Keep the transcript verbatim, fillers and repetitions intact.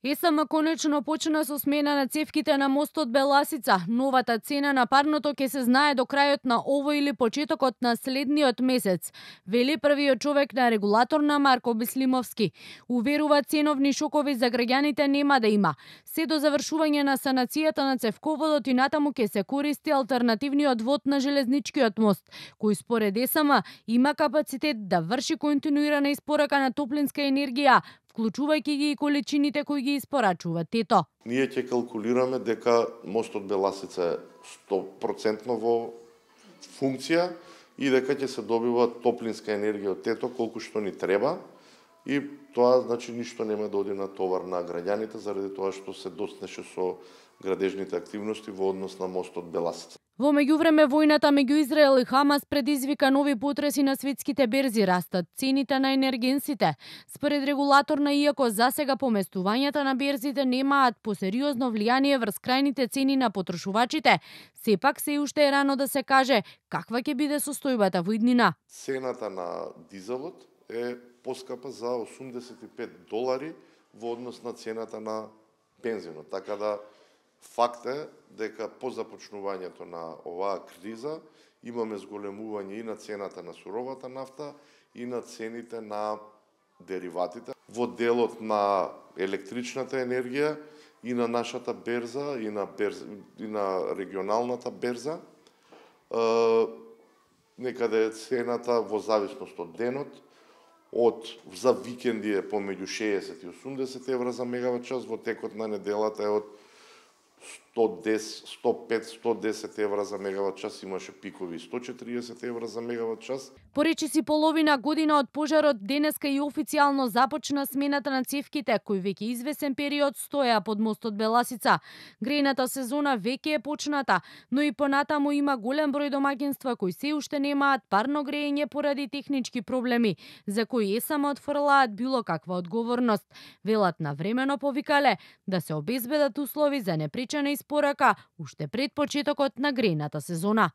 ЕСМ конечно почна со смена на цевките на мостот Беласица. Новата цена на парното ќе се знае до крајот на овој или почетокот на следниот месец, вели првиот човек на регулаторна Марко Бислимовски. Уверува, ценовни шокови за граѓаните нема да има. Се до завршување на санацијата на цевководот и натаму ќе се користи алтернативниот вод на железничкиот мост, кој според ЕСМ има капацитет да врши континуирана испорака на топлинска енергија, вклучувајќи ги и количините кои ги испорачува ТЕТО. Ние ќе калкулираме дека мостот Беласица е сто проценти во функција и дека ќе се добива топлинска енергија од ТЕТО колку што ни треба, и тоа значи ништо нема да оди на товар на граѓаните заради тоа што се доснеше со градежните активности во однос на мостот Беласица. Во меѓувреме војната меѓу Израел и Хамас предизвика нови потреси на светските берзи, растат цените на енергенсите. Според регулаторна, иако засега поместувањата на берзите немаат посериозно влијание врз крајните цени на потрошувачите, сепак се уште е рано да се каже каква ќе биде состојбата во иднина. Цената на дизелот е поскапа за осумдесет и пет долари во однос на цената на бензинот, така да факт е дека по започнувањето на оваа криза имаме зголемување и на цената на суровата нафта и на цените на дериватите. Во делот на електричната енергија и на нашата берза и на, берза, и на регионалната берза, е, некаде цената во зависност од денот, од за викенди е помеѓу шеесет и осумдесет евра за мегават час, во текот на неделата е од сто десет, сто пет, сто десет евра за мегават час, имаше пикови сто четириесет евра за мегават час. Поречиси половина година од пожарот, денеска и официјално започна смената на цевките, кои веќе извесен период стоја под мостот Беласица. Грејната сезона веќе е почната, но и понатаму има голем број домаќинства кои се уште немаат парно грејење поради технички проблеми, за кои ЕСМ отфрлаат било каква одговорност. Велат навремено повикале да се обезбедат услови за непречена испорака уште пред почетокот на грејната сезона.